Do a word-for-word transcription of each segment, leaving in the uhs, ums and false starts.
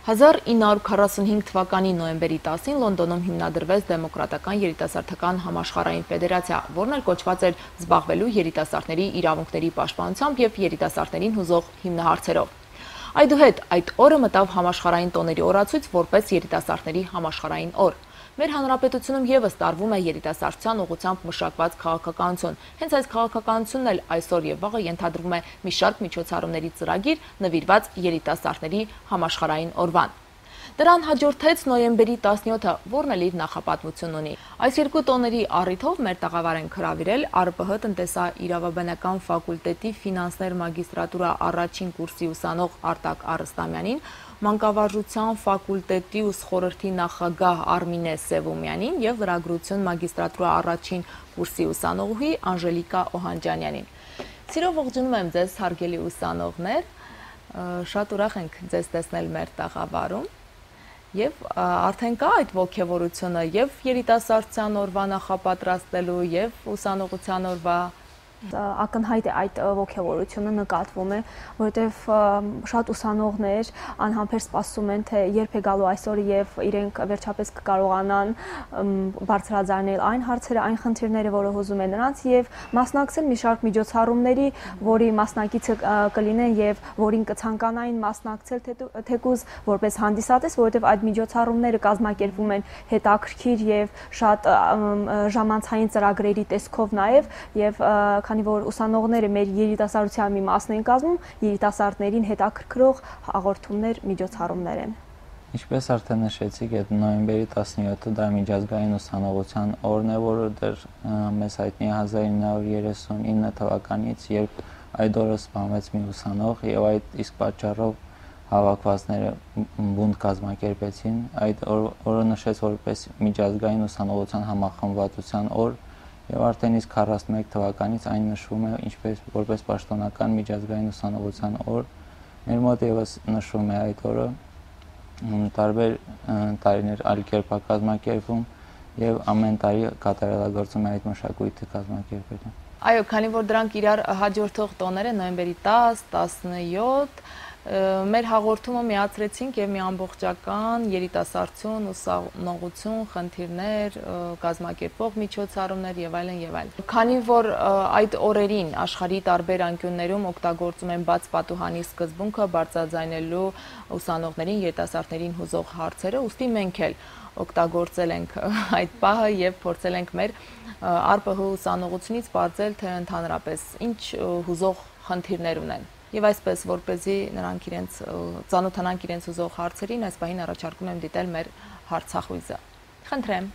հազար ինը հարյուր քառասունհինգ թվականի նոյեմբերի տասին Լոնդոնում հիմնադրվեց Դեմոկրատական երիտասարդական համաշխարհային ֆեդերացիա, որն էլ կոչված էր զբաղվելու երիտասարդների իրավունքների պաշտպանությամբ եւ երիտասարդներին հուզող հիմնահարցերով։ Այդուհետ այդ օրը մտավ համաշխարհային տոների օրացույց որպես երիտասարդների համաշխարհային օր։ Մեր հանրապետությունում եւս տարվում է երիտասարդության ուղղությամբ մշակված քաղաքականություն։ Հենց այս քաղաքականությունն էլ այսօր եւ վաղը ենթադրվում է մի շարք միջոցառումների ծրագիր նվիրված երիտասարդների համաշխարհային օրվան։ Դրան հաջորդեց նոյեմբերի տասնյոթը, որն էլ իր նախապատմությունն ունի։ Այս երկու տոների առիթով մեր տաղավար ենք հրավիրել ԱՌՊՀ տնտեսաիրավաբանական ֆակուլտետի ֆինանսներ մագիստրատուրա առաջին կուրսի ուսանող Արտակ Արստամյանին, մանկավարժության ֆակուլտետի ուսխորհրդի նախագահ Արմինե Սևումյանին եւ լրագրություն մագիստրատուրա առաջին կուրսի ուսանողուհի Անժելիկա Օհանջանյանին։ Սիրով ողջունում եմ ձեզ, հարգելի ուսանողներ, շատ ուրախ ենք ձեզ տեսնել մեր տաղավարում եւ արդեն կա այդ ողջավորությունը եւ երիտասարդության օրվա նախապատրաստելու եւ ուսանողության օրվա ակնհայտ է այդ ողջավորությունը նկատվում է, որովհետև շատ ուսանողներ անհամբեր սպասում են, թե երբ է գալու այսօրը եւ իրենք վերջապես կկարողանան բարձրաձայնել այն հարցերը, այն խնդիրները, որը հուզում են նրանց եւ մասնակցել մի շարք միջոցառումների, որի մասնակիցը կլինեն եւ որին կցանկանային մասնակցել թեկուզ որպես հանդիսատես, որովհետև այդ միջոցառումները կազմակերպվում են հետաքրքիր եւ շատ ժամանցային ծրագրերի տեսքով նաեւ եւ քանի որ ուսանողները մեր երիտասարդության մի մասն են կազմում, երիտասարդներին հետաքրքրող հաղորդումներ, միջոցառումներ են։ Ինչպես արդեն նշեցիք, այդ նոյեմբերի տասնյոթը դա միջազգային ուսանողության օրն է, որը դեռ մեզ հայտնի է հազար ինը հարյուր երեսունինը թվականից, երբ այդ օրը սպանվեց մի ուսանող եւ այդ իսկ պատճառով հավաքվածները բունտ կազմակերպեցին։ Այդ օրը նշեց որպես միջազգային ուսանողության համախմբվածության օր եւ արդեն իսկ քառասունմեկ թվականից այն նշվում է ինչպես որպես պաշտոնական միջազգային ուսանողության օր։ Մեր մոտ եւս նշվում է այդ օրը, տարբեր տարիներ այլ կերպ է կազմակերպվում եւ ամեն տարի կատարելագործում է այդ մշակույթը կազմակերպելը։ Այո, քանի որ դրանք իրար հաջորդող տոներ են նոյեմբերի տասը, տասնյոթ, մեր հաղորդումը միացրեցինք եւ մի ամբողջական երիտասարդություն, ուսանողություն, խնդիրներ, կազմակերպող միջոցառումներ եւ այլն եւ այլն։ Քանի որ այդ օրերին աշխարհի տարբեր անկյուններում օգտագործում են բաց պատուհանի սկզբունքը բարձրաձայնելու ուսանողներին, երիտասարդներին հուզող հարցերը, ուստի մենք էլ օգտագործել ենք այդ պահը եւ փորձել ենք մեր ԱՌՊՀ ուսանողությունից բարձել, թե ընդհանրապես ինչ հուզող խնդիրներ ունեն։ Եվ այսպես, որպեսզի նրանք իրենց ծանոթանանք իրենց ուզող հարցերին, այս պահին առաջարկում եմ դիտել մեր հարցախույզը։ Խնդրեմ։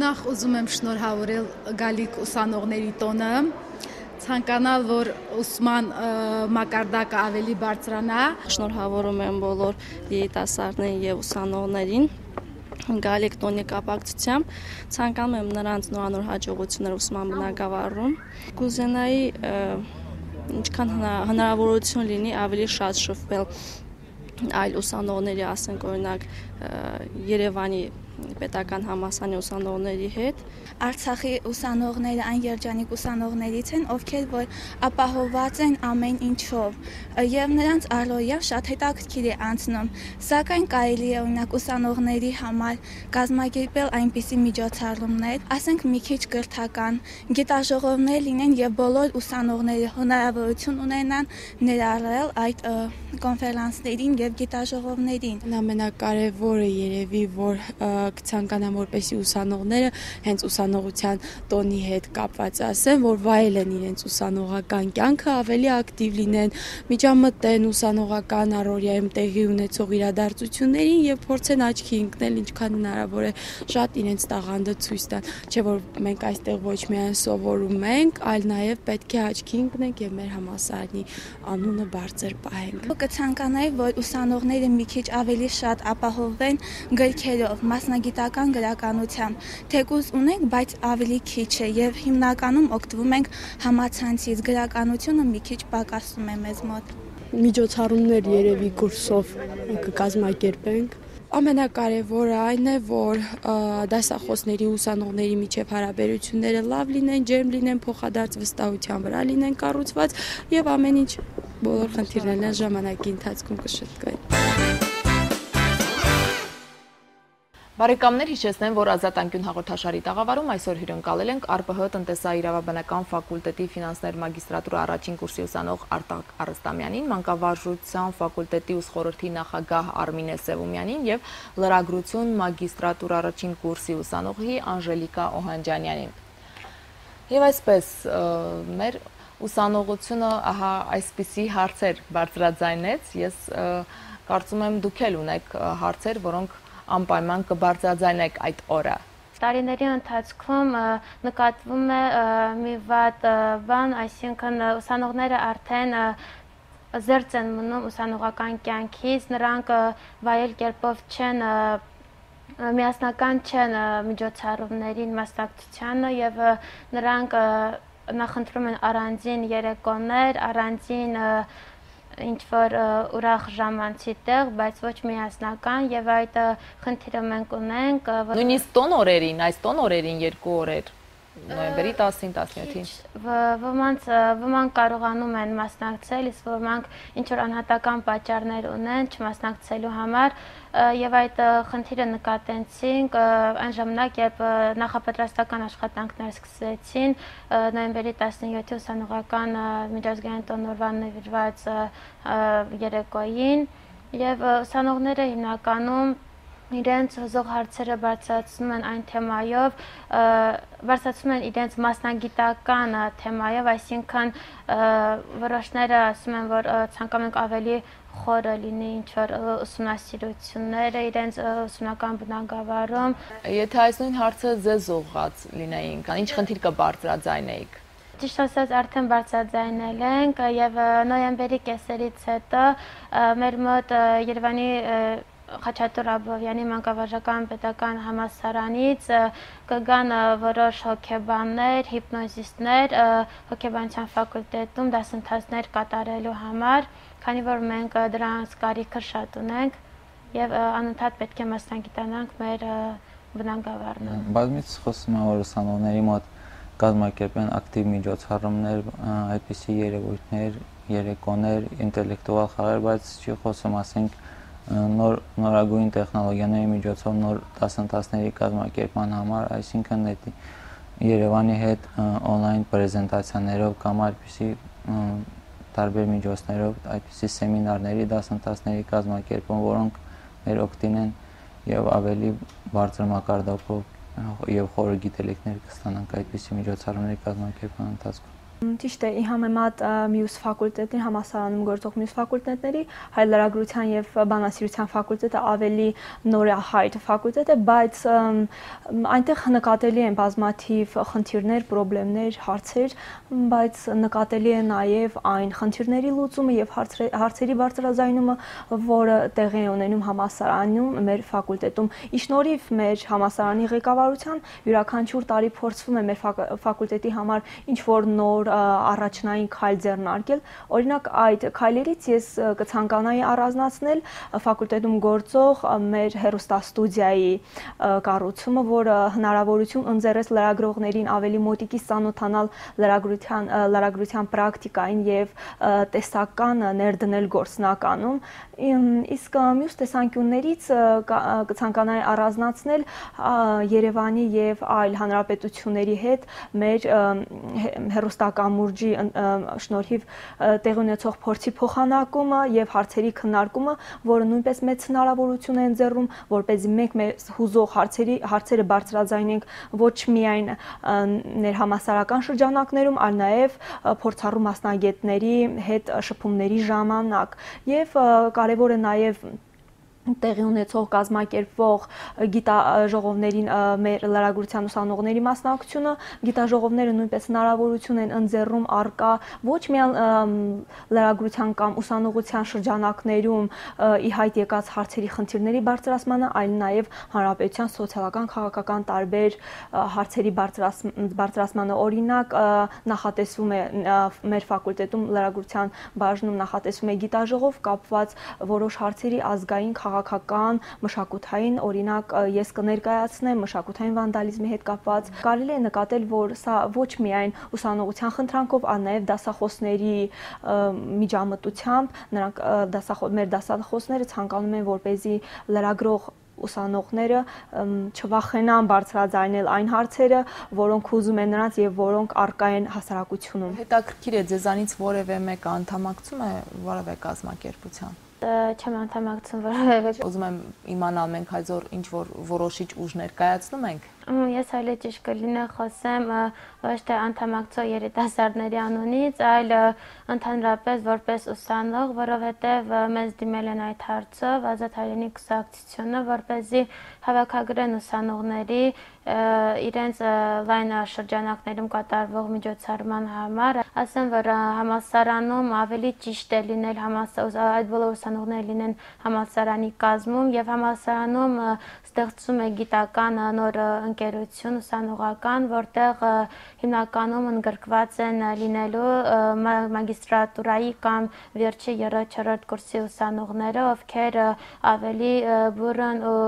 Նախ ուզում եմ շնորհավորել գալիք ուսանողների տոնը, ցանկանալ, որ ուսման մակարդակը ավելի բարձրանա։ Շնորհավորում եմ բոլոր երիտասարդներին եւ ուսանողներին գալիք տոնի կապակցությամբ, ցանկանում եմ նրանց նորանոր հաջողություններ ուսման բնագավառում։ Կուզենայի ինչքան հնարավորություն լինի ավելի շատ շփվել այլ ուսանողների, ասենք օրինակ Երևանի պետական համալսարանի ուսանողների հետ։ Արցախի ուսանողները այն երջանիկ ուսանողներից են, ովքեր որ ապահովված են ամեն ինչով եւ նրանց առօրյա շատ հետաքրքիր է անցնում, սակայն կարելի է օրինակ ուսանողների համար կազմակերպել այնպիսի միջոցառումներ, ասենք մի քիչ կրթական, գիտաժողովներ լինեն եւ բոլոր ուսանողները հնարավորություն ունենան ներառել այդ կոնֆերանսներին եւ գիտաժողովներին։ Ամենակարևորը երևի որ կցանկանամ որպեսի ուսանողները հենց ուսանողության տոնի հետ կապված ասեն, որ վայելեն իրենց ուսանողական կյանքը, ավելի ակտիվ լինեն, միջամտեն ուսանողական առօրյայում տեղի ունեցող իրադարձություններին եւ փորձեն աչքի ընկնել ինչքան հնարավոր է շատ իրենց տաղանդը ցույց տան, չէ որ մենք այստեղ ոչ միայն սովորում ենք, այլ նաեւ պետք է աչքի ընկնենք եւ մեր համալսարանի անունը բարձր պահենք։ Կցանկանայի, որ ուսանողները մի քիչ ավելի շատ ապահովեն գրքերով, մասնագիտական գրականությամբ, թեկուզ ունենք, բայց ավելի քիչ է եւ հիմնականում օգտվում ենք համացանցից, գրականությունը մի քիչ պակասում է մեզ մոտ։ Միջոցառումներ երևի կուրսով կկազմակերպենք։ Ամենակարևորը այն է, որ դասախոսների ուսանողների միջև հարաբերությունները լավ լինեն, ջերմ լինեն, փոխադարձ վստահության վրա լինեն կառուցված եւ ամեն ինչ բոլոր խնդիրներն ժամանակի ընթացքում կշտկվեն։ Բարեկամներ, հիշեցնեմ, որ Ազատ անկյուն հաղորդաշարի տաղավարում այսօր հյուրընկալել ենք Ա Պ Հ տնտեսաիրավաբանական ֆակուլտետի ֆինանսներ մագիստրատուրա առաջին կուրսի ուսանող Արտակ Արստամյանին, մանկավարժության ֆակուլտետի ուսխորհրդի նախագահ Արմինե Սևումյանին եւ լրագրություն մագիստրատուրա առաջին կուրսի ուսանողի Անժելիկա Օհանջանյանին։ Եվ այսպես մեր ուսանողությունը ահա այսպիսի հարցեր բարձրաձայնեց, ես կարծում եմ դուք էլ ունեք հարցեր, որոնք անպայման կբարձրաձայնեք այդ օրը։ Տարիների ընթացքում նկատվում է մի վատ բան, այսինքն ուսանողները արդեն զերծ են մնում ուսանողական կյանքից, նրանք վայել կերպով չեն միասնական չեն միջոցառումներին մասնակցությանը եւ նրանք նախընտրում են առանձին երեկոներ, առանձին ինչ-որ ուրախ ժամանցի տեղ, բայց ոչ միասնական եւ այդ խնդիրը մենք ունենք։ Նույնիսկ տոն օրերին, այս տոն օրերին երկու օրեր, նոյեմբերի տասին, տասնյոթին։ Ոմանց ոմանք կարողանում են մասնակցել, իսկ ոմանք ինչ-որ անհատական պատճառներ ունեն չմասնակցելու համար եւ այդ խնդիրը նկատեցինք այն ժամանակ, երբ նախապատրաստական աշխատանքներ սկսեցին նոյեմբերի տասնյոթի ուսանողական միջազգային տոնորվան նվիրված երեկոյին եւ ուսանողները հիմնականում իրենց հզող հարցերը բարձրացնում են այն թեմայով, բարձրացնում են իրենց մասնագիտական թեմայով, այսինքն որոշները ասում են, որ ցանկանում ենք ավելի խորը լինի ինչ-որ ուսումնասիրությունները իրենց ուսումնական բնագավառում։ Եթե այս նույն հարցը ձեզ ուղղված լինեին, ինչ խնդիր կբարձրաձայնեիք։ Ճիշտ ասած արդեն բարձրաձայնել ենք եւ նոյեմբերի կեսերից հետո մեր մոտ Երևանի Խաչատուր Աբովյանի մանկավարժական պետական համալսարանից կգան որոշ հոգեբաններ, հիպնոզիստներ հոգեբանության ֆակուլտետում դասընթացներ կատարելու համար, քանի որ մենք դրանց կարիքը շատ ունենք եւ անընդհատ պետք է մասնագիտանանք մեր բնագավառում։ Բազմիցս խոսում եմ, որ ուսանողների մոտ կազմակերպեն ակտիվ միջոցառումներ, այդպիսի երևույթներ, երեկոներ, ինտելեկտուալ խաղեր, բայց չի խոսում, ասենք նոր նորագույն տեխնոլոգիաների միջոցով նոր դասընթացների կազմակերպման համար, այսինքն այդ Երևանի հետ on-line պրեզենտացիաներով կամ այդպիսի տարբեր միջոցներով այդպիսի սեմինարների, դասընթացների կազմակերպում, որոնք մեր օգտին են եւ ավելի բարձր մակարդակով եւ խորը գիտելիքներ կստանանք այդպիսի միջոցառումների կազմակերպման ընթացքում։ Ճիշտ է, ի համեմատ մյուս ֆակուլտետների, համալսարանում գործող մյուս ֆակուլտետների, հայ լրագրության եւ բանասիրության ֆակուլտետը ավելի նորահայտ ֆակուլտետ է, բայց այնտեղ նկատելի են բազմաթիվ խնդիրներ, խնդիրներ, հարցեր, բայց նկատելի է նաեւ այն խնդիրների լուծումը եւ հարցերի բարձրաձայնումը, որը տեղի է ունենում համալսարանում, մեր ֆակուլտետում։ Ի շնորհիվ մեր համալսարանի ղեկավարության յուրաքանչյուր տարի փորձվում է մեր ֆակուլտետի համար ինչ որ նոր առաջնային քայլ ձեռնարկել, օրինակ այդ քայլերից ես կցանկանայի առանձնացնել ֆակուլտետում գործող մեր հեռուստաստուդիայի կառուցումը, որը հնարավորություն ընձեռեց լրագրողներին ավելի մոտիկից ծանոթանալ լրագրության լրագրության պրակտիկային եւ տեսական ներդնել գործնականում, իսկ մյուս տեսանկյուններից կցանկանայի առանձնացնել Երևանի եւ այլ հանրապետությունների հետ մեր հեռուստակամուրջի շնորհիվ տեղի ունեցող փորձի փոխանակումը եւ հարցերի քննարկումը, որը նույնպես մեծ հնարավորություն է ընձեռում, որպեսզի մենք մեր հուզող հարցերի հարցերը բարձրաձայնենք ոչ միայն ներհամասարական շրջանակներում, այլ նաեւ փորձառու մասնագետների հետ շփումների ժամանակ եւ կարեւոր է նաեւ տեղի ունեցող կազմակերպվող գիտաժողովներին մեր լրագրության ուսանողների մասնակցությունը, գիտաժողովները նույնպես հնարավորություն են ընձեռում առկա ոչ միայն լրագրության կամ ուսանողության շրջանակներում ի հայտ եկած հարցերի խնդիրների բարձրացմանը, այլ նաև հանրապետության սոցիալական, քաղաքական տարբեր հարցերի բարձրացմանը, օրինակ նախատեսվում է մեր ֆակուլտետում լրագրության բաժնում նախատեսվում է գիտաժողով կապված որոշ հարցերի ազգային քաղաքական քաղաքական, մշակութային, օրինակ ես կներկայացնեմ մշակութային վանդալիզմի հետ կապված։ Կարելի է նկատել, որ սա ոչ միայն ուսանողության խնդրանքով, այլ նաև դասախոսների միջամտությամբ, նրանք մեր դասախոսները ցանկանում են, որպեսզի լրագրող ուսանողները չվախենան բարձրաձայնել այն հարցերը, որոնք ուզում են նրանց եւ որոնք առկա են հասարակությունում։ Հետաքրքիր է, ձեզանից որևէ մեկը անդամակցում է որևէ կազմակերպության։ Չեմ անդամակցում որևէ։ Ուզում եմ իմանալ, մենք այսօր ինչ որ որոշիչ ուժ ներկայացնում ենք։ Ես այլ ճիշտ կլինի խոսեմ ոչ թե անդամակցող երիտասարդների անունից, այլ ընդհանրապես որպես ուսանող, որովհետև մեզ դիմել են այդ հարցով Ազատ հայրենի կուսակցությունը, որպեսզի հավաքագրեն ուսանողների իրենց լայն շրջանակներում կատարվող միջոցառման համար, ասեմ, որ համալսարանում ավելի ճիշտ է լինել այդ բոլոր ուսանողները լինեն համալսարանի կազմում եւ համալսարանում ստեղծում է գիտական նոր ընկերություն ուսանողական, որտեղ հիմնականում ընդգրկված են լինելու մագիստրատուրայի կամ վերջի երրորդ չորրորդ կուրսի ուսանողները, ովքեր ավելի բուրըն ու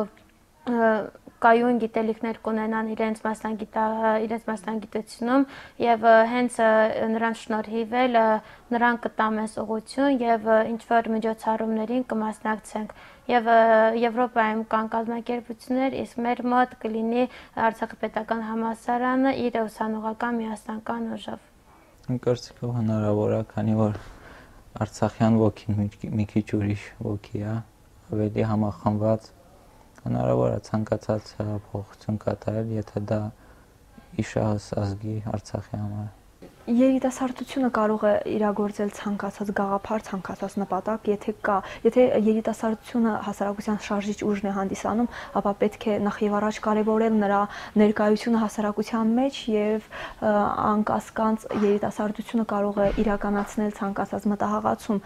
կայուն գիտելիքներ կունենան իրենց իրենց մասնագիտությունում եւ հենց նրանց շնորհիվ էլ նրանք կտամես ուղղություն եւ ինչ որ միջոցառումներին կմասնակցենք եւ Եվրոպայում կան կազմակերպություններ, իսկ մեր մոտ կլինի Արցախի պետական համալսարանը իր ուսանողական միասնական ուժով։ Իմ կարծիքով հնարավոր է, քանի որ արցախյան ոգին մի քիչ ուրիշ ոգի է, ավելի համախմբված, հնարավոր է ցանկացած փոխություն կատարել, եթե դա իշահս ազգի Արցախի համար։ Երիտասարդությունը կարող է իրագործել ցանկացած գաղափար, ցանկացած նպատակ, եթե կա, եթե երիտասարդությունը հասարակության շարժիչ ուժն է հանդիսանում, ապա պետք է նախ եւ առաջ կարևորել նրա ներկայությունը հասարակության մեջ եւ անկասկանց երիտասարդությունը կարող է իրականացնել ցանկացած մտահղացում,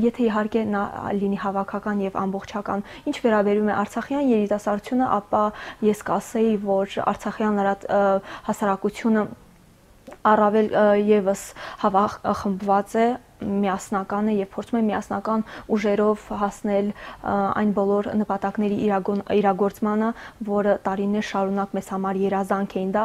եթե իհարկե նա լինի հավաքական եւ ամբողջական։ Ինչ վերաբերում է արցախյան երիտասարդությունը, ապա ես կասեի, որ արցախյան հասարակությունը առավել եւս խմբված է, միասնական է եւ փորձում է միասնական ուժերով հասնել այն բոլոր նպատակների իրագործմանը, որը տարիներ շարունակ մեզ համար երազանք էին, դա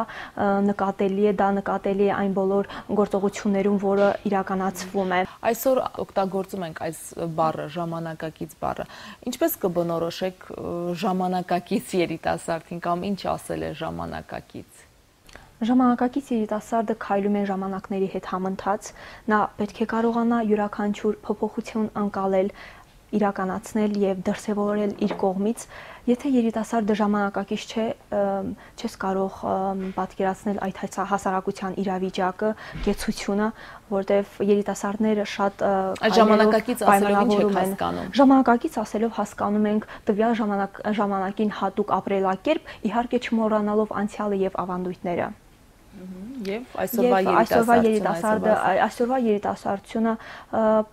նկատելի է, դա նկատելի է այն բոլոր գործողություններում, որը իրականացվում է։ Այսօր օգտագործում ենք այս բառը, ժամանակակից բառը։ Ինչպես կբնորոշեք ժամանակակից երիտասարդին կամ ինչ ասել է ժամանակակից։ Ժամանակակից երիտասարդը քայլում է ժամանակների հետ համընթաց, նա պետք է կարողանա յուրաքանչյուր փոփոխություն անցնել, իրականացնել եւ դրսեւորել իր կողմից։ Եթե երիտասարդը ժամանակակից չէ, չես կարող պատկերացնել այդ հասարակության իրավիճակը, կեցությունը, որտեղ երիտասարդները շատ ժամանակակից ասելով ինչ եք հասկանում։ Ժամանակակից ասելով հասկանում ենք տվյալ ժամանակին հատուկ ապրելակերպ, իհարկե չմոռանալով անցյալը եւ ավանդույթները։ Եվ այսօրվա երիտասարդը, այսօրվա երիտասարդությունը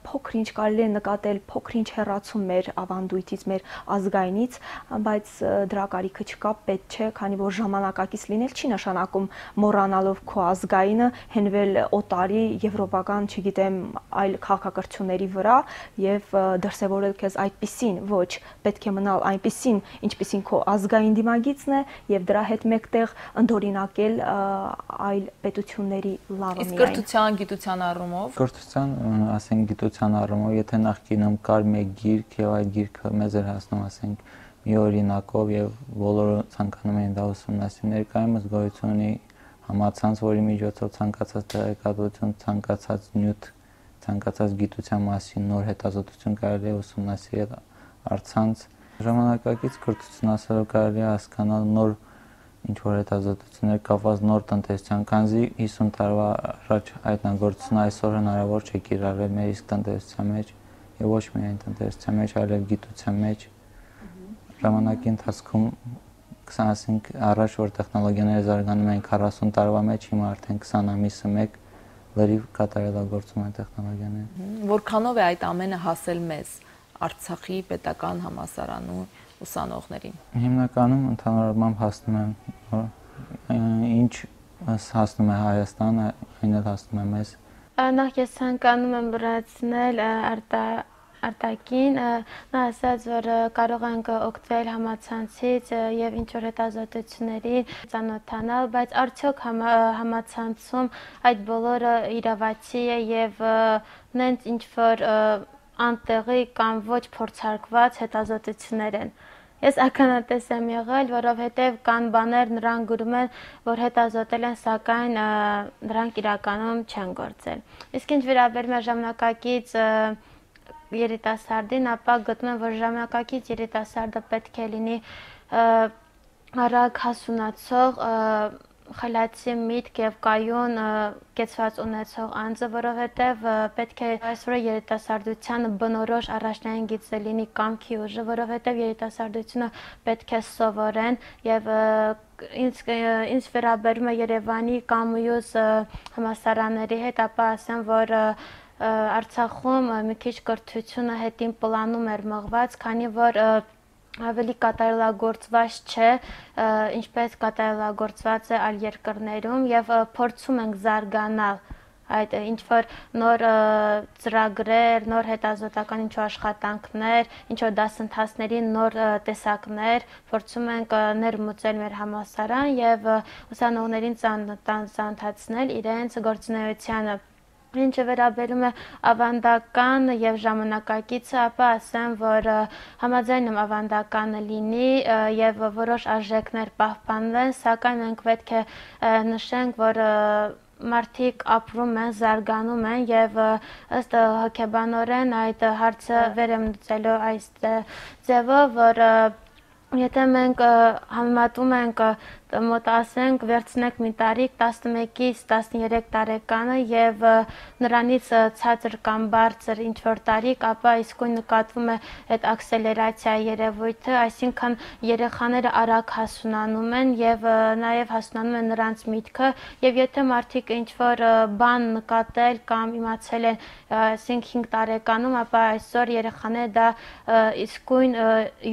փոքր-ինչ կարելի է նկատել, փոքր-ինչ հեռացում մեր ավանդույթից, մեր ազգայինից, բայց դրա կարիքը չկա, պետք չէ, քանի որ ժամանակակից լինել չի նշանակում մոռանալով քո ազգայինը, հենվել օտարի, եվրոպական, չգիտեմ, այլ քաղաքակրթությունների վրա եւ դրսեւորել քեզ այդպիսին, ոչ, պետք է մնալ այնպիսին, ինչպիսին քո ազգային դիմագիծն է եւ դրա հետ մեկտեղ ընդօրինակել այլ պետությունների լավը միայն։ Իսկ կրթության, գիտության առումով։ Կրթության, ասենք գիտության առումով, եթե նախկինում կար մեկ գիրք եւ այդ գիրքը մեզ էր հասնում, ասենք, մի օրինակով եւ բոլորը ցանկանում էին դա ուսումնասիրել, ներկայումս գոյություն ունի համացանց, որի միջոցով ցանկացած տեղեկատվություն, ցանկացած նյութ, ցանկացած գիտության մասին նոր հետազոտություն կարելի է ուսումնասիրել առցանց։ Ժամանակակից կրթություն ասելով կարելի է հասկանալ նոր ինչ որ հետազոտություններ կապված նոր տնտեսության, քանզի հիսուն տարվա առաջ հայտնագործությունը այսօր հնարավոր չէ կիրառել մեր իսկ տնտեսության մեջ եւ ոչ միայն տնտեսության մեջ, այլև գիտության մեջ։ Ժամանակի ընթացքում ասենք առաջ որ տեխնոլոգիաները զարգանում են քառասուն տարվա մեջ, հիմա արդեն քսան ամիսը մեկ լրիվ կատարելագործում են տեխնոլոգիաները։ Որքանով է այդ ամենը հասել մեզ Արցախի պետական համալսարանում ուսանողներին։ Հիմնականում ընդհանրապես հասնում են ինչ հասնում է Հայաստան, այն էլ հասնում է մեզ։ Նախ ես ցանկանում եմ լրացնել արտակին, նա ասաց, որ կարող ենք օգտվել համացանցից եւ ինչ-որ հետազոտությունների ծանոթանալ, բայց արդյոք համացանցում այդ բոլորը իրավացի է եւ նենց ինչ-որ անտեղի կամ ոչ փորձարկված հետազոտություններ են։ Ես ականատես եմ եղել, որովհետև կան բաներ նրանք գրում են, որ հետազոտել են, սակայն նրանք իրականում չեն գործել։ Իսկ ինչ վերաբերում է ժամանակակից երիտասարդին, ապա գտնում եմ, որ ժամանակակից երիտասարդը պետք է լինի արագ հասունացող, խելացի միտք եւ կայուն կեցված ունեցող անձը, որովհետեւ պետք է այսօր երիտասարդությանը բնորոշ առաջնային գիծը լինի կամքի ուժը, որովհետեւ երիտասարդությունը պետք է սովորեն եւ ինձ ինձ վերաբերում է Երևանի կամ մյուս համալսարանների հետ, ապա ասեմ, որ Արցախում մի քիչ կրթությունը հետին պլանում էր մղված, քանի որ ավելի կատարելագործված չէ, ինչպես կատարելագործված է այլ երկրներում եւ փորձում ենք զարգանալ այդ ինչ-որ նոր ծրագրեր, նոր հետազոտական ինչ-որ աշխատանքներ, ինչ-որ դասընթացների նոր տեսակներ փորձում ենք ներմուծել մեր համալսարան եւ ուսանողներին ծանոթացնել իրենց գործունեությանը։ Ինչը վերաբերում է ավանդական եւ ժամանակակիցը, ապա ասեմ, որ համաձայն եմ ավանդականը լինի եւ որոշ արժեքներ պահպանվեն, սակայն մենք պետք է նշենք, որ մարդիկ ապրում են, զարգանում են եւ ըստ հոգեբանորեն այդ հարցը վեր եմ լուծելու այս ձևով, որ եթե մենք համեմատում ենք մոտ ասենք վերցնենք մի տարիք տասնմեկից տասներեք տարեկանը եւ նրանից ցածր կամ բարձր ինչ որ տարիք, ապա իսկույն նկատվում է այդ աքսելերացիա երևույթը, այսինքն երեխաները արագ հասունանում են եւ նաեւ հասունանում են նրանց միտքը եւ եթե մարդիկ ինչ որ բան նկատել կամ իմացել են ասենք հինգ տարեկանում, ապա այսօր երեխաները դա իսկույն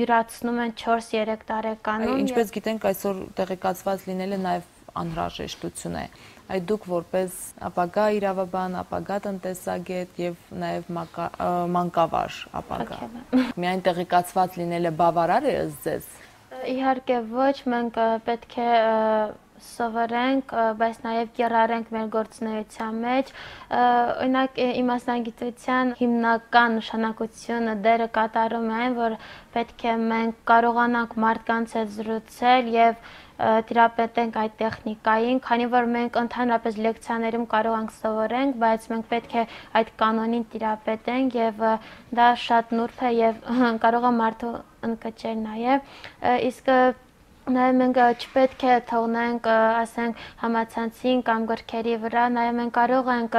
յուրացնում են չորս երեք տարեկանում։ Ինչպես գիտենք, այսօր տեղեկացված լինելը նաև անհրաժեշտություն է։ Այդ դուք որպես ապագա իրավաբան, ապագա տնտեսագետ եւ նաեւ մանկավար ապագա։ Միայն տեղեկացված լինելը բավարար է ըստ ձեզ։ Իհարկե ոչ, մենք պետք է սովորենք, բայց նաև կիրառենք մեր գործունեության մեջ։ Օրինակ իմաստագիտության հիմնական նշանակությունը դերը կատարում է, որ պետք է մենք կարողանանք մարդկանց հետ զրուցել եւ տիրապետենք այդ տեխնիկային, քանի որ մենք ընդհանրապես լեկցիաներում կարող ենք սովորենք, բայց մենք պետք է այդ կանոնին տիրապետենք եւ դա շատ նուրբ է եւ կարող է մարդու ընկճել նաեւ, իսկ Նաև մենք չպետք է թողնենք, ասենք, համացանցին կամ գրքերի վրա, նաև մենք կարող ենք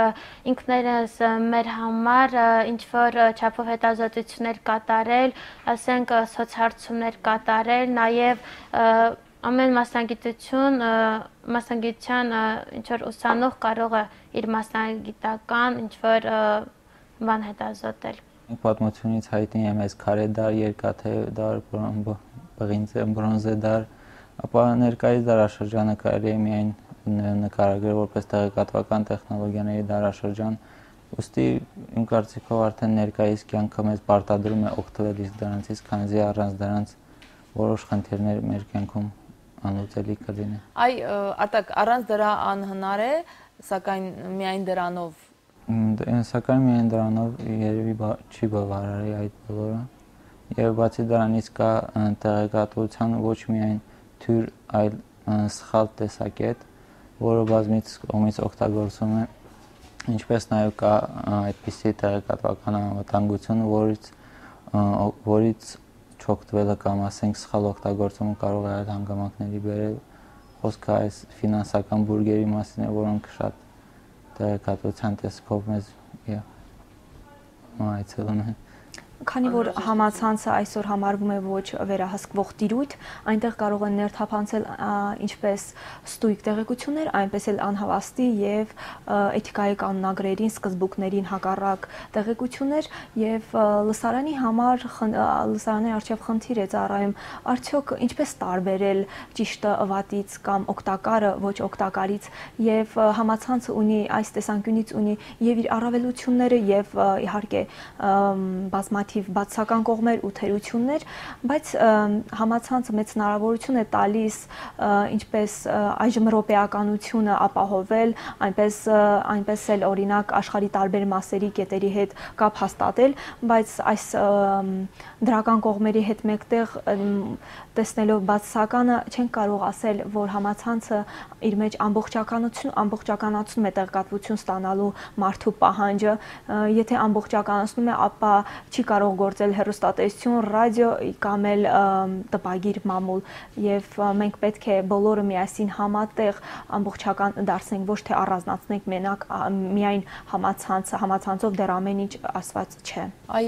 ինքներս մեր համար ինչ-որ չափով հետազոտություններ կատարել, ասենք, սոցհարցումներ կատարել, նաև ամեն մասնագիտություն, մասնագիտության ինչ-որ ուսանող կարող է իր մասնագիտական ինչ-որ բան հետազոտել։ Պատմությունից հայտնի է մեզ քարե դար, երկաթե դար, բրոնզե դար, ապա ներկայիս դարաշրջանը կարելի է միայն նկարագրել որպես տեղեկատվական տեխնոլոգիաների դարաշրջան, ուստի իմ կարծիքով արդեն ներկայիս կյանքը մեզ պարտադրում է օգտվել իսկ դրանցից, քանզի առանց դրանց որոշ խնդիրներ մեր կյանքում անլուծելի կլինեն։ Այ Արտակ, առանց դրա անհնար է, սակայն միայն դրանով Սակայն միայն դրանով երևի չի բավարարի այդ բոլորը եւ բացի դրանից կա տեղեկատվության ոչ միայն թյուր, այլ սխալ տեսակետ, որը բազմից կողմից օգտագործվում է, ինչպես նաեւ կա այդպիսի տեղեկատվական անվտանգություն, որից որից չօգտվելը կամ ասենք սխալ օգտագործումը կարող է այլ հանգամանքների բերել, խոսքը այս ֆինանսական բուրգերի մասին է, որոնք շատ տեղեկատվության տեսքով մեզ այցելում են։ Քանի որ համացանցը այսօր համարվում է ոչ վերահսկվող տիրույթ, այնտեղ կարող են ներթափանցել ինչպես ստույգ տեղեկություններ, այնպես էլ անհավաստի եւ էթիկայի կանոնագրերին, սկզբունքներին հակառակ տեղեկություններ եւ լսարանի համար լսարանի արչեւ խնդիր է ծառայում, արդյոք ինչպես տարբերել ճիշտը վատից կամ օգտակարը ոչ օգտակարից եւ համացանցը ունի այս տեսանկյունից ունի եւ իր առավելությունները եւ իհարկե բազմաթիվ բազմաթիվ բացական կողմեր ու թերություններ, բայց համացանցը մեծ հնարավորություն է տալիս ինչպես այժմ ռոպեականությունը ապահովել, այնպես այնպես էլ օրինակ աշխարհի տարբեր մասերի կետերի հետ կապ հաստատել, բայց այս դրական կողմերի հետ մեկտեղ տեսնելով բացականը չենք կարող ասել, որ համացանցը իր մեջ ամբողջականություն, ամբողջականացնում է տեղեկատվություն ստանալու մարդու պահանջը, եթե ամբողջականացնում է, ապա չի կարող գործել հեռուստատեսություն, ռադիո կամ էլ տպագիր մամուլ, եւ մենք պետք է բոլորը միասին համատեղ ամբողջական դարձնենք, ոչ թե առանձնացնենք մենակ միայն համացանցը, համացանցով դեռ ամեն ինչ ասված չէ։ Այ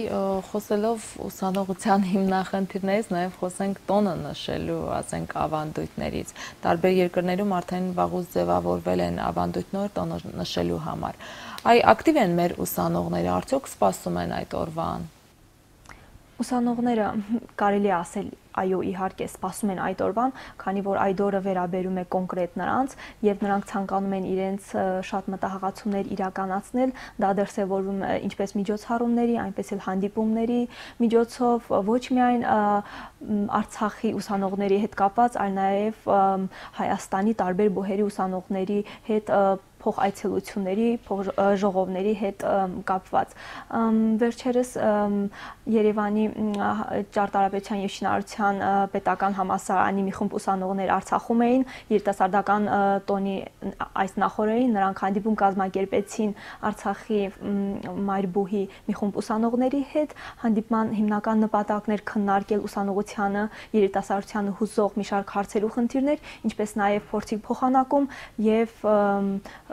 խոսելով ուսանողության հիմնախնդիրներից, նաև խոսենք տոնը նշելու, ասենք, ավանդույթներից։ Տարբեր երկրներում արդեն վաղուց ձևավորվել են ավանդույթներ տոնը նշելու համար։ Այ ակտիվ են մեր ուսանողները, արդյոք սպասում են այդ օրվան։ Ուսանողները կարելի է ասել այո, իհարկե սպասում են այդ օրվան, քանի որ այդ օրը վերաբերում է կոնկրետ նրանց եւ նրանք ցանկանում են իրենց շատ մտահղացումներ իրականացնել, դա դրսեւորվում է ինչպես միջոցառումների, այնպես էլ հանդիպումների միջոցով, ոչ միայն Արցախի ուսանողների հետ կապված, այլ նաեւ Հայաստանի տարբեր բուհերի ուսանողների հետ փոխայցելությունների, ժողովների հետ կապված։ Վերջերս Երևանի ճարտարապետության եւ շինարարության պետական համալսարանի մի խումբ ուսանողներ Արցախում էին, երիտասարդական տոնի այս նախօրեին նրանք հանդիպում կազմակերպեցին Արցախի մայրբուհի մի խումբ ուսանողների հետ, հանդիպման հիմնական նպատակն էր քննարկել ուսանողությանը, երիտասարդությանը հուզող մի շարք հարցեր ու խնդիրներ, ինչպես նաեւ փորձի փոխանակում եւ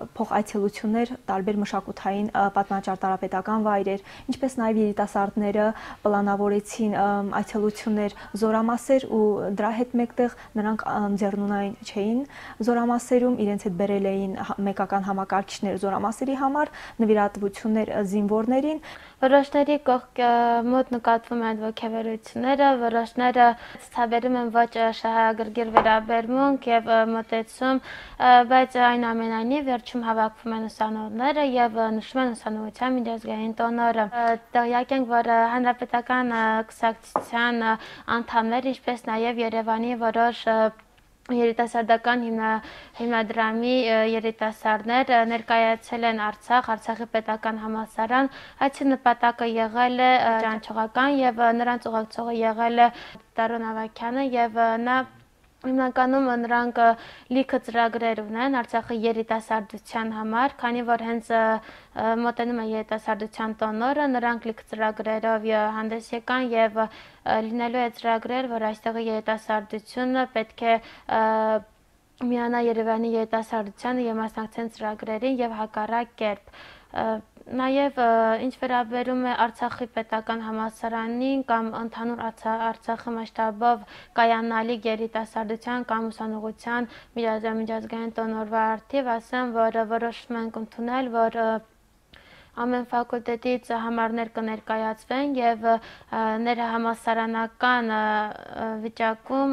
փոխայցելություններ տարբեր մշակութային պատմաճարտարապետական վայրեր, ինչպես նաև երիտասարդները պլանավորեցին այցելություններ Զորամասեր ու դրա հետ մեկտեղ նրանք ձեռնունայն չէին Զորամասերում, իրենց հետ բերել էին մեկական համակարգիչներ Զորամասերի համար, նվիրատվություններ զինվորներին։ Որոշների կողք մոտ նկատվում են ոգևորությունները, որոշները ցուցաբերում են ոչ շահագրգիռ վերաբերմունք եւ մոտեցում, բայց այնուամենայնիվ վերջում հավաքվում են ուսանողները եւ նշում են ուսանողության միջազգային տոնորը։ Տեղյակ ենք, որ հանրապետական կուսակցության անդամներ, ինչպես նաեւ Երևանի որոշ երիտասարդական հիմնադրամի երիտասարդներ ներկայացել են Արցախ, Արցախի պետական համալսարան, այցի նպատակը եղել է ճանաչողական եւ նրանց ուղեկցողը եղել է Տարոն Ավագյանը եւ նա հիմնականում նրանք լիքը ծրագրեր ունեն Արցախի երիտասարդության համար, քանի որ հենց մոտենում է երիտասարդության տոնորը, նրանք լիքը ծրագրերով հանդես եկան եւ լինելու է ծրագրեր, որ այստեղի երիտասարդությունը պետք է միանա Երևանի երիտասարդությանը եւ մասնակցեն ծրագրերին եւ հակառակ կերպ։ Նաև ինչ վերաբերում է Արցախի պետական համալսարանին կամ ընդհանուր Արցախի մասշտաբով կայանալիք երիտասարդության կամ ուսանողության միջազգային տոնորվա առթիվ, ասեմ, որ որոշում ենք ընդունել, որ ամեն ֆակուլտետից համարներ կներկայացվեն եւ ներհամալսարանական վիճակում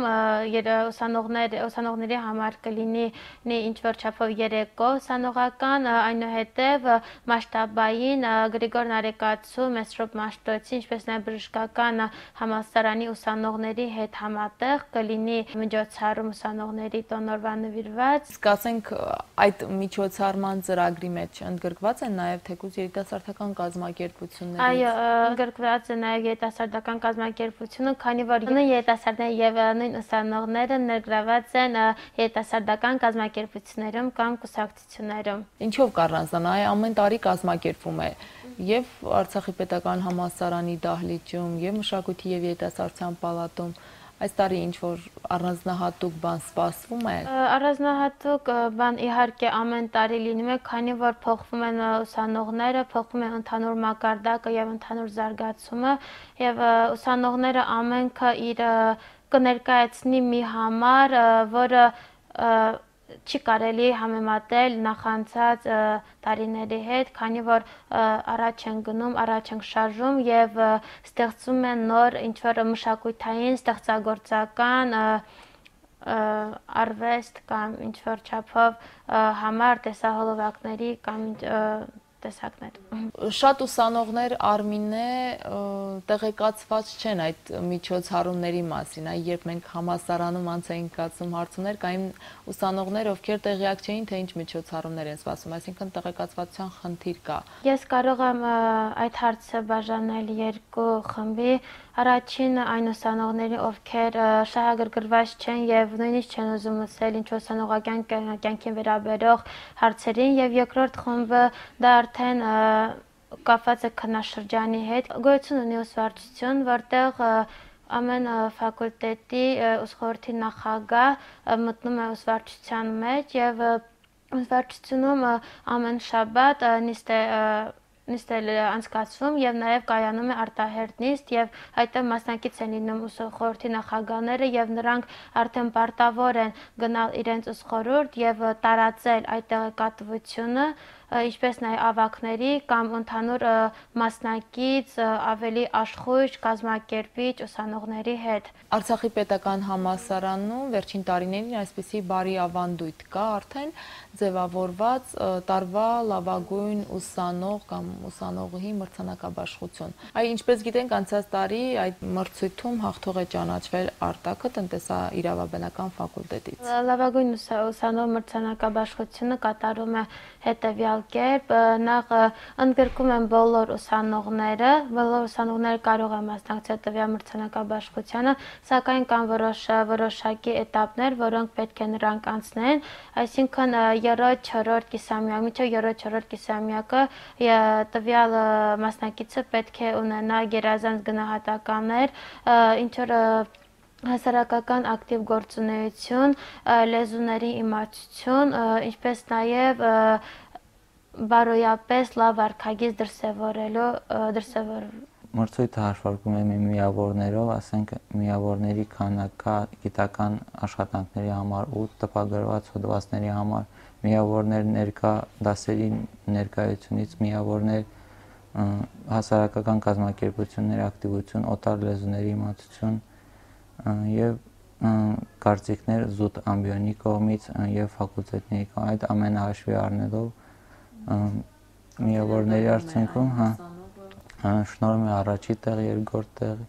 ուսանողներ ուսանողների համար կլինի ինչ որ չափով երեկո ուսանողական, այնուհետեւ մասշտաբային Գրիգոր Նարեկացու, Մեսրոպ Մաշտոցի, ինչպես նաեւ բժշկական համալսարանի ուսանողների հետ համատեղ կլինի միջոցառում ուսանողների տոնորվա նվիրված։ Իսկ ասենք այդ միջոցառման ծրագրի մեջ ընդգրկված են նաեւ թեկուզ երիտասարդական կազմակերպությունները։ Այո, ընդգրկված է նաև երիտասարդական կազմակերպությունը, քանի որ նույն երիտասարդները եւ նույն ուսանողները ներգրաված են երիտասարդական կազմակերպություններում կամ կուսակցություններում։ Ինչով կառանձնանա, այ ամեն տարի կազմակերպվում է եւ Արցախի պետական համալսարանի դահլիճում եւ մշակույթի եւ երիտասարդության պալատում։ Այս տարի ինչ որ առանձնահատուկ բան սպասվում է։ Առանձնահատուկ բան իհարկե ամեն տարի լինում է, քանի որ փոխվում են ուսանողները, փոխվում է ընդհանուր մակարդակը եւ ընդհանուր զարգացումը եւ ուսանողները ամենքը իր կներկայացնի մի համար, որը չի կարելի համեմատել նախանցած տարիների հետ, քանի որ առաջ են գնում, առաջ են շարժում եւ ստեղծում են նոր ինչ-որ մշակութային, ստեղծագործական արվեստ կամ ինչ-որ չափով համար տեսահոլովակների կամ տեսակներ։ Շատ ուսանողներ Արմինե տեղեկացված չեն այդ միջոցառումների մասին, այ երբ մենք համալսարանում անց էինք կացում հարցումներ, կային ուսանողներ, ովքեր տեղյակ չէին, թե ինչ միջոցառումներ են սպասում, այսինքն տեղեկացվածության խնդիր կա։ Ես կարող եմ այդ հարցը բաժանել երկու խմբի։ Առաջին այն ուսանողների, ովքեր շահագրգռված չեն եւ նույնիսկ չեն ուզում լսել ինչ ուսանողական կյանքին վերաբերող հարցերին, եւ երկրորդ խումբը դա արդեն կապված է քննաշրջանի հետ։ Գոյություն ունի ուսուցչություն, որտեղ ամեն ֆակուլտետի ուսխորհրդի նախագահ մտնում է ուսուցչության մեջ եւ ուսուցչությունում ամեն շաբաթ նիստ է նիստել անցկացվում եւ նաեւ կայանում է արտահերտ նիստ եւ այդտեղ մասնակից են լինում ուսխորհրդի նախագահները եւ նրանք արդեն պարտավոր են գնալ իրենց ուսխորհուրդ եւ տարածել այդ տեղեկատվությունը, ինչպես նաեւ ավագների կամ ընդհանուր մասնակից ավելի աշխույժ կազմակերպիչ ուսանողների հետ։ Արցախի պետական համալսարանում վերջին տարիներին այսպիսի բարի ավանդույթ կա արդեն ձևավորված տարվա լավագույն ուսանող կամ ուսանողի մրցանակաբաշխություն։ Այ ինչպես գիտենք, անցած տարի այդ մրցույթում հաղթող է ճանաչվել Արտակը տնտեսաիրավաբանական ֆակուլտետից։ Լավագույն ուսանող մրցանակաբաշխությունը կատարում է հետևյալ կերպ, նախ ընդգրկում են բոլոր ուսանողները, բոլոր ուսանողները կարող են մասնակցել տվյալ մրցանակաբաշխությանը, սակայն կան որոշ որոշակի էտապներ, որոնք պետք է նրանք անցնեն, այսինքն երրորդ, չորրորդ կիսամյակ, մինչև երրորդ, չորրորդ կիսամյակը տվյալ մասնակիցը պետք է ունենա գերազանց գնահատականներ, ինչ որ հասարակական ակտիվ գործունեություն, լեզուների իմացություն, ինչպես նաև բարոյապես լավ վարքագիծ դրսևորելու դրսևորելու Մրցույթը հաշվարկում է միավորներով, ասենք միավորների քանակը գիտական աշխատանքների համար ու տպագրված հոդվածների համար, միավորներ ներկա դասերի ներկայությունից, միավորներ հասարակական կազմակերպությունների ակտիվություն, օտար լեզուների իմացություն եւ կարծիքներ զուտ ամբիոնի կողմից եւ ֆակուլտետների կողմից, այդ ամենը հաշվի առնելով միավորների արդյունքում, հա, շնորհում է առաջի տեղ, երկրորդ տեղ,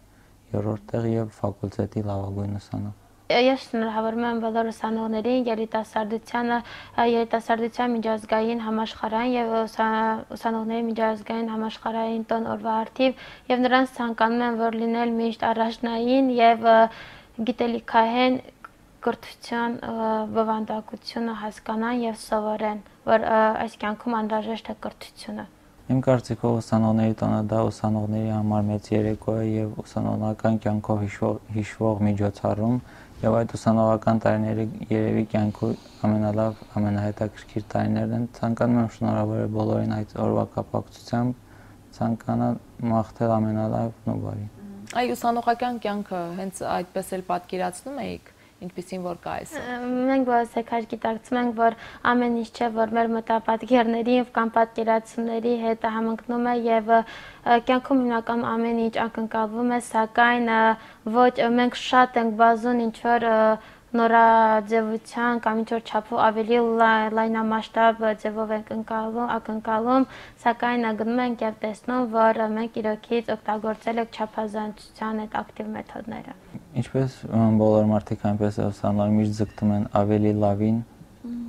երրորդ տեղ եւ ֆակուլտետի լավագույն ուսանող։ Ես շնորհավորում եմ բոլոր ուսանողներին, երիտասարդությանը, երիտասարդության միջազգային համաշխարհային եւ ուսանողների միջազգային համաշխարհային տոն օրվա առթիվ եւ նրանց ցանկանում եմ, որ լինել միշտ առաջնային եւ գիտելիքահեն կրթության բովանդակությունը հասկանան եւ սովորեն, որ այս կյանքում անհրաժեշտ է կրթությունը։ Իմ կարծիքով ուսանողների տոնը դա ուսանողների համար մեծ երեկո է եւ ուսանողական կյանքով հիշվող միջոցառում եւ այդ ուսանողական տարիները երևի կյանքի ամենալավ, ամենահետաքրքիր տարիներն են։ Ցանկանում եմ շնորհավորել բոլորին այդ օրվա կապակցությամբ, ցանկանալ մաղթել ամենալավն ու բարին։ Այ ուսանողական կյանքը հենց այդպես էլ պատկերացնում եք, ինչպեսին որ կա այսօր։ Մենք բոլորս եկար գիտակցում ենք, որ ամեն ինչ չէ, որ մեր մտապատկերների կամ պատկերացումների հետ համընկնում է եւ կյանքում հիմնական ամեն ինչ ակնկալվում է, սակայն ոչ մենք շատ ենք բազում ինչ որ նորաձևության կամ ինչ որ չափով ավելի լայնամասշտաբ ձևով ենք ընկալում, ակնկալում, սակայն գնում ենք եւ տեսնում, որ մենք իրոքից օգտագործել ենք չափազանցության այդ ակտիվ մեթոդները։ Ինչպես բոլոր մարդիկ այնպես է ուսանողները միշտ ձգտում են ավելի լավին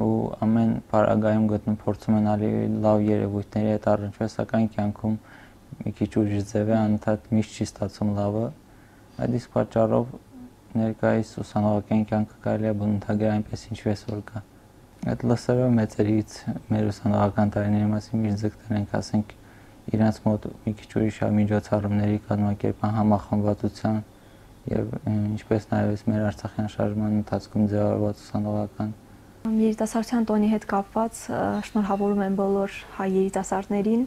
ու ամեն պարագայում գտնում փորձում են ավելի լավ երևույթների հետ առնչվել, սակայն կյանքում մի քիչ ուրիշ ձև է, անընդհատ միշտ չի ստացվում լավը։ Այդ իսկ պատճառով ներկայիս ուսանողական կյանքը կարելի է բնութագրել այնպես ինչպես որ կա։ Այդ լսելով մեծերից մեր ուսանողական տարիների մասին միշտ ձգտել ենք, ասենք, իրենց մոտ մի քիչ ուրիշ միջոցառումների կազմակերպման, համախմբվածության եւ ինչպես նաեւ մեր Արցախյան շարժման ընթացքում ձևավորված ուսանողական Երիտասարդության տոնի հետ կապված շնորհավորում եմ բոլոր հայ երիտասարդներին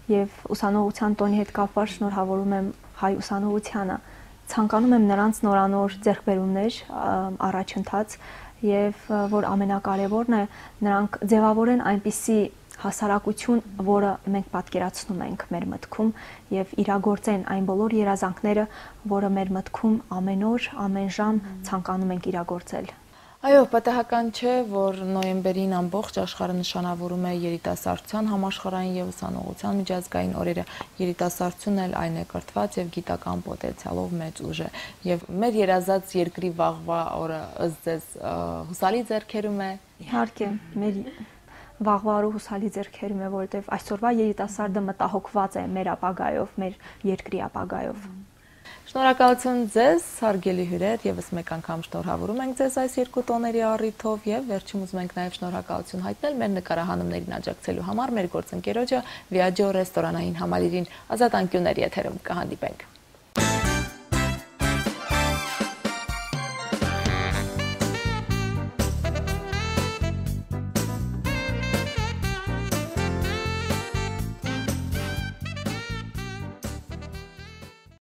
եւ ուսանողության տոնի հետ կապված շնորհավորում եմ հայ ուսանողությանը։ Ցանկանում եմ նրանց նորանոր ձեռքբերումներ, առաջընթաց եւ որ ամենակարևորն է նրանք ձևավորեն այնպիսի հասարակություն, որը մենք պատկերացնում ենք մեր մտքում եւ իրագործեն այն բոլոր երազանքները, որը մեր մտքում ամեն օր, ամեն ժամ ցանկանում ենք իրագործել։ Այո, պատահական չէ, որ նոյեմբերին ամբողջ աշխարհը նշանավորում է երիտասարդության համաշխարհային եւ ուսանողության միջազգային օրերը։ Երիտասարդությունն էլ այն է կրթված եւ գիտական պոտենցիալով մեծ ուժ է։ Եվ մեր երազած երկրի վաղվա օրը ըստ ձեզ հուսալի ձեռքերում է։ Իհարկե, մեր վաղվա օրը հուսալի ձեռքերում է, որովհետեւ այսօրվա երիտասարդը մտահոգված է մեր ապագայով, մեր երկրի ապագայով։ Շնորհակալություն ձեզ, հարգելի հյուրեր, եւս մեկ անգամ շնորհավորում ենք ձեզ այս երկու տոների առիթով եւ վերջում ուզում ենք նաեւ շնորհակալություն հայտնել մեր նկարահանումներին աջակցելու համար մեր գործընկերոջը Viaggio ռեստորանային համալիրին։ Ազատ անկյունների եթերում կհանդիպենք։